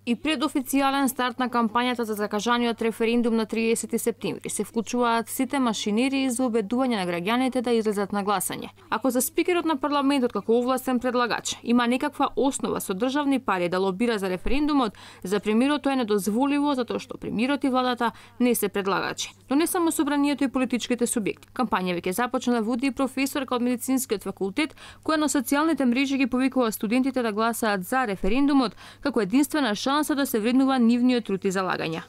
И пред официјален старт на кампањата за закажаниот референдум на 30 септември се вклучуваат сите машинери за убедување на граѓаните да излезат на гласање. Ако за спикерот на парламентот како овластен предлагач има некаква основа со државни пари да лобира за референдумот, за премиерот тоа е недозволиво затоа што премиерот и владата не се предлагачи. Но не само собранието и политичките субјекти. Кампања веќе започна да води и професорка од медицинскиот факултет, која на социјалните мрежи ги повикува студентите да гласаат за референдумот како единствена шанса да се вреднува нивниот труд и залагања.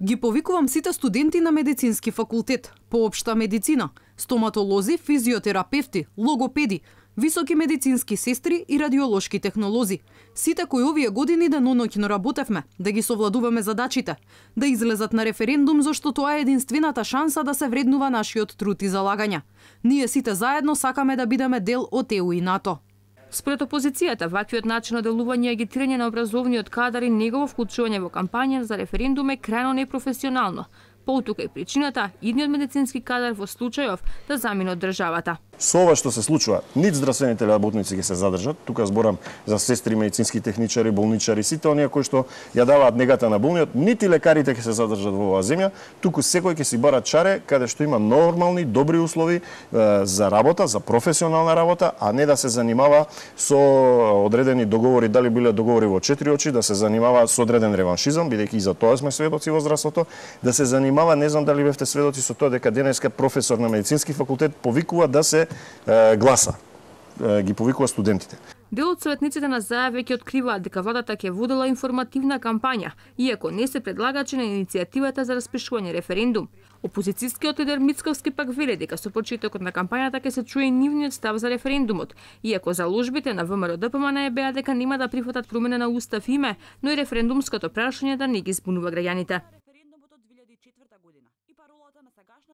Ги повикувам сите студенти на медицински факултет, по општа медицина, стоматолози, физиотерапевти, логопеди, високи медицински сестри и радиолошки технолози. Сите кои овие години деноноќно работевме, да ги совладуваме задачите, да излезат на референдум зашто тоа е единствената шанса да се вреднува нашиот труд и залагања. Ние сите заедно сакаме да бидеме дел од ЕУ и НАТО. Според опозицијата, ваквиот начин на делување и агитирање на образовниот кадар и негово вклучување во кампања за референдум е крајно непрофесионално. Поутука и причината идниот медицински кадар во случајов да замине од државата. Со ова што се случува, нит здравствените работници ќе се задржат, тука зборам за сестри, медицински техничари, болничари, сите оние кои што ја даваат негата на болниот, нити лекарите ќе се задржат во оваа земја, туку секој ќе си бара чаре каде што има нормални, добри услови за работа, за професионална работа, а не да се занимава со одредени договори, дали биле договори во четири очи, да се занимава со одреден реваншизам, бидејќи и за тоа сме сведоци во здравството, да се занимава, не знам дали бевте сведоци со тоа дека денеска професор на медицински факултет повикува да се гласа. Ги повикува студентите. Дел од советниците на ЗАЕ веќе откриваат дека владата ќе водела информативна кампања, иако не се предлагачи на иницијативата за распишување референдум. Опозицијскиот лидер Мицковски пак вели дека со почетокот на кампањата ќе се чуе нивниот став за референдумот, иако заложбите на ВМРО ДПМН беа дека нема да прифатат промена на устав име, но и референдумското прашање да не ги збунува граѓаните.